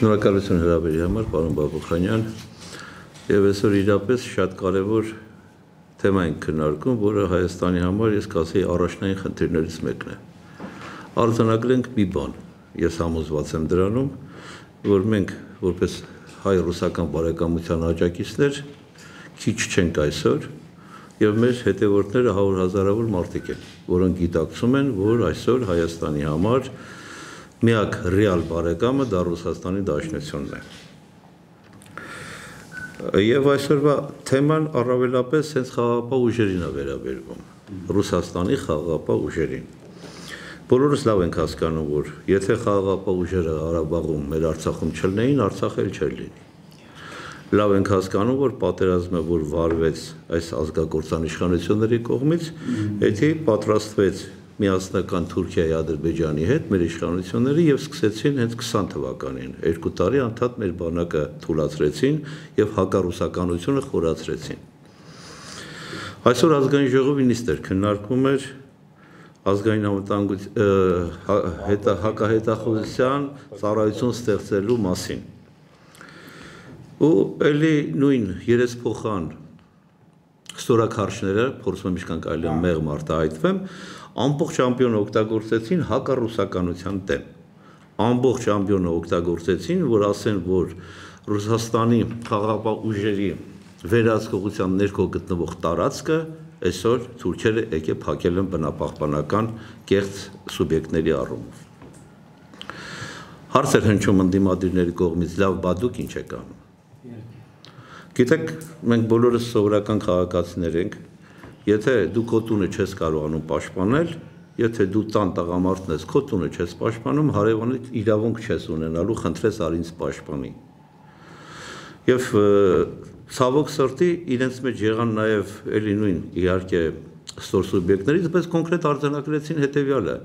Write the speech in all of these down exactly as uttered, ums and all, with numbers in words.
Շնորհակալություն հրավերի համար, պարոն Բաբուխանյան, եւ այսօր իրապես շատ կարեւոր թեմա ենք քննարկում, որը Հայաստանի համար ես կասեի առաջնային խնդիրներից մեկն է։ Արձանագրենք մի բան, ես համոզված եմ դրանում, որ մենք որպես հայ-ռուսական բարեկամության աջակիցներ քիչ չենք այսօր, եւ մեր հետևորդները հարյուր հազարավոր մարդիկ են, որոնք գիտակցում են, որ այսօր Հայաստանի համար միակ ռեալ բարեկամը դա Ռուսաստանի Դաշնությունն է։ Եվ այսօրվա թեման առավելապես հենց խաղաղապահ ուժերին է վերաբերվում, Ռուսաստանի խաղաղապահ ուժերին։ Բոլորս լավ ենք հասկանում, որ եթե խաղաղապահ ուժերը Ղարաբաղում, մեր Արցախում չլինեին, Արցախ էլ չէր լինի։ Լավ ենք հասկանում, որ պատերազմը, որ վարվեց այս ազգագործանիշխանությունների կողմից, եթե պատրաստվեց միասնական Թուրքիայի, Ադրբեջանի հետ մեր իշխանությունները եւ սկսեցին հենց քսան թվականին, երկու տարի անդադ մեր բանակը թուլացրեցին եւ հակառուսականությունը խորացրեցին։ Այսօր ազգային ժողովի նիստեր քննարկվում էր ազգային անվտանգության հակահետախուզության ծառայություն ստեղծելու մասին։ Ու ելի նույն երեսփոխան ստորաքարշները, փորձում եմ ինչքան կարելի է մեղմ արտահայտվեմ, ամբողջ ամբիոնը օգտագործեցին հակառուսականության դեմ։ Ամբողջ ամբիոնը օգտագործեցին, որ ասեն, որ Ռուսաստանի խաղաղապահ ուժերի վերահսկողության ներքո գտնվող տարածքը այսօր թուրքերը եկե փակել են բնապահպանական կեղծ սուբյեկտների առումով։ Հարց էր հնչում ընդդիմադիրների կողմից, լավ, բա դուք ինչ եք անում։ Գիտեք, մենք բոլորս սովորական քաղաքացիներ ենք, եթե դու քո տունը չես կարողանում պաշտպանել, եթե դու տան տղամարդն ես, քո տունը չես պաշտպանում, հարևանիդ իրավունք չես ունենալու, խնդրես արի ինձ պաշտպանի։ Եվ ցավոք սրտի իրենց մեջ եղան նաև էլի նույն իհարկե ստոր սուբյեկտներից, բայց կոնկրետ արձանագրեցին հետևյալը։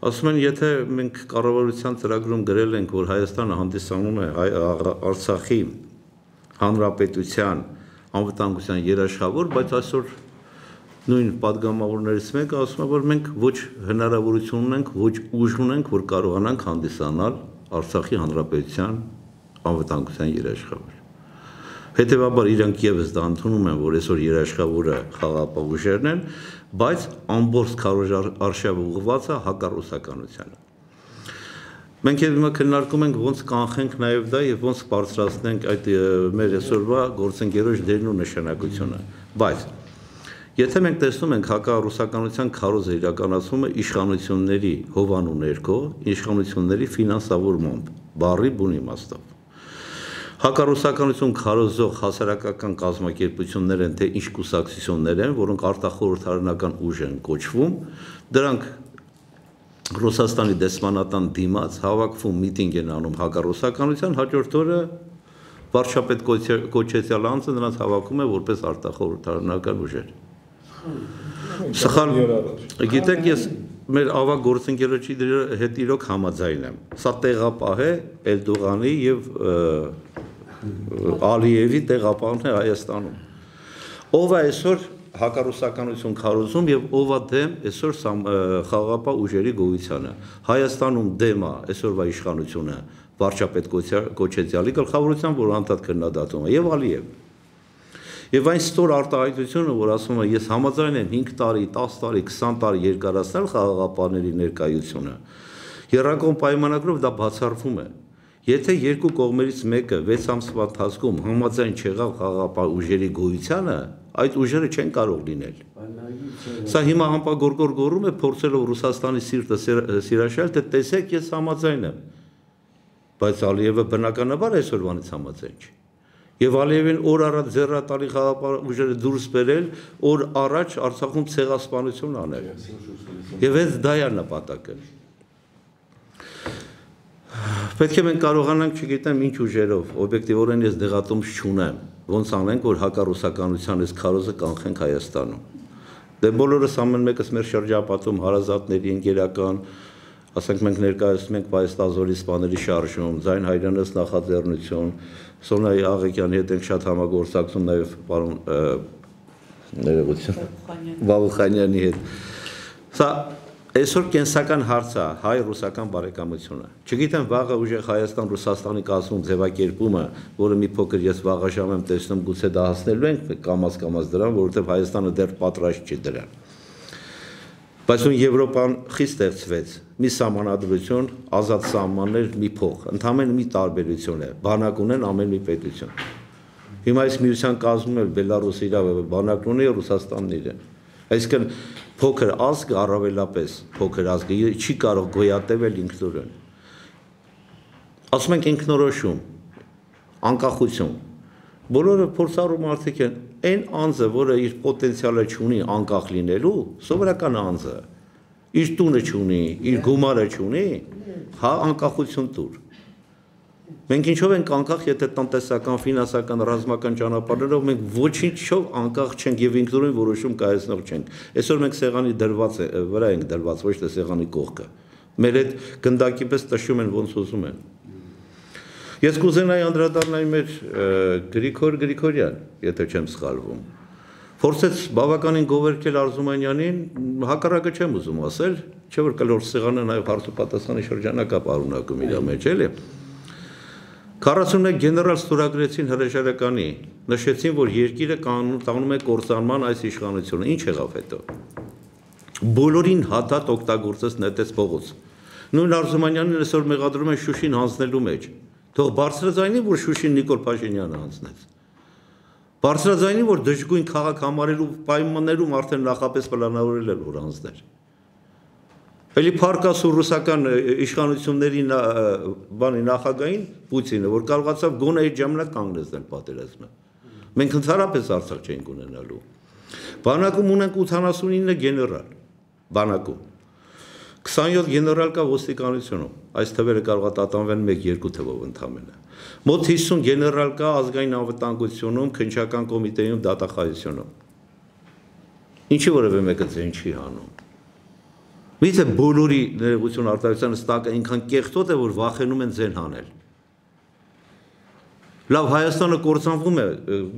Ասում են, եթե մենք կառավարության ծրագրում գրել ենք, որ Հայաստանը հանդիսանում է Արցախի Հանրապետության անվտանգության երաշխավոր, բայց այսօր նույն падգամավորներից մեկը ասում է, որ մենք ոչ հնարավորություն ունենք, ոչ ուժ ունենք, որ կարողանանք հանդիսանալ Արցախի Հանրապետության անվտանգության երաշխավոր։ Հետևաբար իրանք եւս դա ընդունում են, որ այսօր երաշխավորը խաղաղապահ ուժերն են, բայց ամբողջ քարոզարշավը ուղղված է հակառուսականությանը։ Մենք հիմա քննարկում ենք ոնց կանխենք նաև դա եւ ոնց բարձրացնենք այդ մեր այսօրվա գործընկերոջ դերն ու նշանակությունը։ Բայց եթե մենք տեսնում ենք հակառուսականության քարոզը իրականացումը իշխանությունների հովանու ներքո, իշխանությունների ֆինանսավորմամբ, բառի բուն իմաստով։ Հակառուսականություն քարոզող հասարակական կազմակերպություններ են, թե ինչ կուսակցություններ են, որոնք արտախորհրդարանական ուժ են կոչվում, դրանք Ռուսաստանի դեսպանատան դիմաց հավաքվում միտինգ են անում հակառուսականության, հաջորդ օրը վարչապետ կոչեցյալ անձը նրանց հավաքում է որպես արտախորհրդարանական ուժեր։ Սխալ, գիտեք, ես մեր ավագ գործընկերոջի հետ իրոք համաձայն եմ։ Սա տեղապահ է Էրդողանի եւ Ալիևի տեղապահն է Հայաստանում։ Ով է այսօր հակառուսականություն քարոզում եւ ով է դեմ այսօր խաղաղապահ ուժերի գոյությանը։ Հայաստանում դեմ է այսօրվա իշխանությունը վարչապետ կոչեցյալի գլխավորությամբ, որ անդադ քննադատում է եւ Ալիև։ Եվ այն ստոր արտահայտությունը, որ ասում է ես համաձայն եմ հինգ տարի, տասը տարի, քսան տարի երկարացնել խաղաղապահների ներկայությունը, Եռակոմ պայմանագրով դա բացառվում է։ Եթե երկու կողմերից մեկը վեց ամսվա ընթացքում համաձայն չեղավ խաղաղապահ ուժերի գոյությանը, այդ ուժերը չեն կարող լինել։ Սա հիմա համապագորգոր գոռում է, փորձելով Ռուսաստանի սիրտը սիրաշել, թե տեսեք ես համաձայն եմ։ Բայց Ալիևը բնականաբար այսօրվանից համաձայն չէ։ Եվ Ալիևին օր առաջ ձեռատալի խաղաղապահ ուժերը դուրս բերել, օր առաջ Արցախում ցեղասպանություն անել։ Եվ հենց դա է նպատակը։ Պետք է մենք կարողանանք, չգիտեմ ինչ ուժերով, օբյեկտիվորեն ես դեղատոմս չունեմ, ոնց անենք, որ հակառուսականության այս քարոզը կանխենք Հայաստանում։ Դե բոլորս ամեն մեկս մեր շրջապատում հարազատների ընկերական, ասենք մենք ներկայացնում ենք Պայստազորի սպաների շարժում, Ձայն Հայրենս նախաձեռնություն, Սոնայի Աղեկյանի հետ ենք շատ համագործակցում, նաև պարոն ներողություն Բաբուխանյանի հետ։ Սա Այսօր կենսական հարց է հայ-ռուսական բարեկամությունը։ Չգիտեմ վաղը ուժեղ Հայաստան-Ռուսաստանի կազմում ձևակերպումը, որը մի փոքր ես վաղաժամ եմ տեսնում, գուցե դա հասնելու ենք կամաց-կամաց դրան, որովհետև Հայաստանը դեռ պատրաստ չի դրան։ Բայց ում Եվրոպան խիստ ստեղծվեց, մի սահմանադրություն, ազատ սահմաններ, մի փող, ընդհանրապես մի տարբերություն է, բանակ ունեն ամեն մի պետություն։ Հիմա այս միության կազմում էլ Բելարուսը իր բանակն ունի, Ռուսաստանն իրեն։ Այսինքն փոքր ազգը առավելապես փոքր ազգը չի կարող գոյատևել ինքնուրույն։ Ասում ենք ինքնորոշում, անկախություն։ Բոլորը փորձառու մարդիկ են, այն անձը, որը իր պոտենցիալը չունի անկախ լինելու, սովորական անձը, իր տունը չունի, իր գումարը չունի, հա անկախություն տուր։ Մենք ինչով ենք անկախ, եթե տնտեսական, ֆինանսական, ռազմական ճանապարհներով մենք ոչինչով անկախ չենք եւ ինքնուրույն որոշում կայացնող չենք։ Այսօր մենք սեղանի դրված վրա ենք դրված, ոչ թե սեղանի կողքը։ Մեր այդ գնդակի պես տշում են ոնց ուզում են։ Ես կուզենայի անդրադառնալ մեր Գրիգոր Գրիգորյան, եթե չեմ սխալվում։ Փորձեց բավականին գովերքել Արզումանյանին, հակառակը չեմ ուզում ասել, չէ՞ որ կլոր սեղանը նաեւ հարցոպատասխանի շրջանակա պարունակում իր մեջ, էլի։ քառասունմեկ գեներալ ստորագրեցին հրաժարականի, նշեցին, որ երկիրը տանում է կործանման այս իշխանությունը, ինչ եղավ հետո։ Բոլորին հատատ օգտագործեց նետեց փողոց։ Նույն Արզումանյանին այսօր մեղադրում են Շուշին հանձնելու մեջ։ Թող բարձրաձայնի, որ Շուշին Նիկոլ Փաշինյանը հանձնեց։ Բարձրաձայնի, որ դժգույն քաղաք համարելու պայմաններում արդեն նախապես պլանավորել էր որ հանձներ։ Էլի փառքասու ռուսական իշխանությունների բանի նախագահին Պուտինը, որ կարողացավ գոնե այդ ժամանակ կանգնեցնել պատերազմը։ Մենք ընդհանրապես Արցախ չենք ունենալու։ Բանակում ունենք ութանասունինը գեներալ, բանակում։ քսանյոթ գեներալ կա ոստիկանությունում, այս թվերը կարող է տատանվել մեկ-երկու թվով ընդամենը։ Մոտ հիսուն գեներալ կա ազգային անվտանգությունում, քննչական կոմիտեում, դատախազությունում։ Ինչի որևէ մեկը ձեն չի հանում։ Միթե բոլորի ներողություն արտահայտության ստակը այնքան կեղտոտ է, որ վախենում են ձեն հանել։ Լավ, Հայաստանը կործանվում է,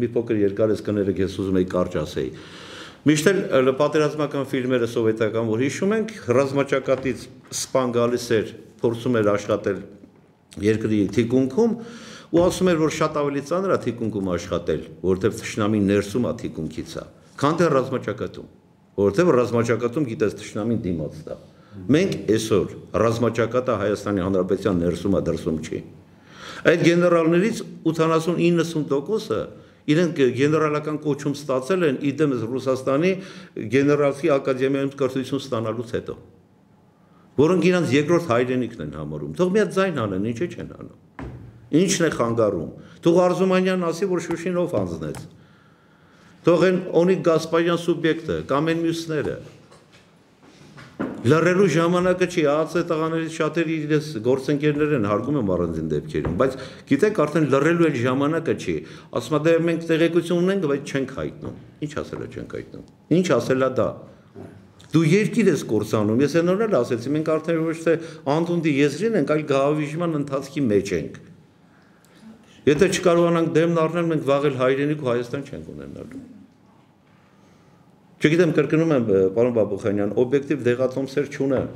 մի փոքր երկար ես կներեք, ես ուզում եի կարճ ասեի։ Միշտ էլ պատերազմական ֆիլմերը սովետական, որ հիշում ենք, ռազմաճակատից սպան գալիս էր, փորձում էր աշխատել երկրի թիկունքում, ու ասում էր, որ շատ ավելի ծանր է թիկունքում աշխատել, որովհետև թշնամին ներսում է թիկունքից է, քան թե ռազմաճակատում։ Որովհետև ռազմաճակատում գիտես թշնամին դիմաց դա։ Մենք այսօր ռազմաճակատը Հայաստանի Հանրապետության ներսում է, դրսում չի։ Այդ գեներալներից ութանասուն-իննսուն տոկոսը իրենք գեներալական կոչում ստացել են իդեմս Ռուսաստանի գեներալի ակադեմիայում կրթություն ստանալուց հետո, որոնք իրանց երկրորդ հայրենիքն են համարում։ Թող մի հատ ձայն անեն, ինչի չեն անում։ Ինչն է խանգարում։ Թող Արզումանյանն ասի, որ Շուշին ով հանձնեց։ Թող են Օնիկ Գասպարյան սուբյեկտը, կամ են մյուսները։ Լռելու ժամանակը չի, ԱԱՑ տղաներից շատերի իրենց գործընկերներ են, հարգում եմ առանձին դեպքերում, բայց գիտեք արդեն լռելու էլ ժամանակը չի, ասում է դե մենք տեղեկություն ունենք, բայց չենք հայտնում։ Ինչ ասել է չենք հայտնում։ Ինչ ասել է դա։ Դու երկիր ես կործանում, ես այնօր էլ ասեցի, մենք արդեն ոչ թե անդունդի եզրին ենք, այլ գահավիժման ընթացքի մեջ ենք։ Եթե չկարողանանք դեմն առնել, մենք վաղ էլ հայրենիք ու Հայաստան չենք ունենալու։ Չգիտեմ, կրկնում եմ, պարոն Բաբուխանյան, օբյեկտիվ դեղատոմսեր չունեմ,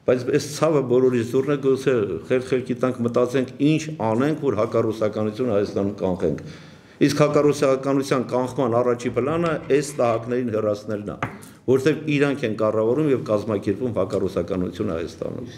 բայց այս ցավը բոլորից դուրն է, գուցե խելք-խելքի տանք մտածենք, ինչ անենք, որ հակառուսականությունը Հայաստանում կանխենք։ Իսկ հակառուսականության կանխման առաջի պլանը այս տահակներին հեռացնելն է, որովհետև իրանք են կառավարում եւ կազմակերպում հակառուսականությունը Հայաստանում։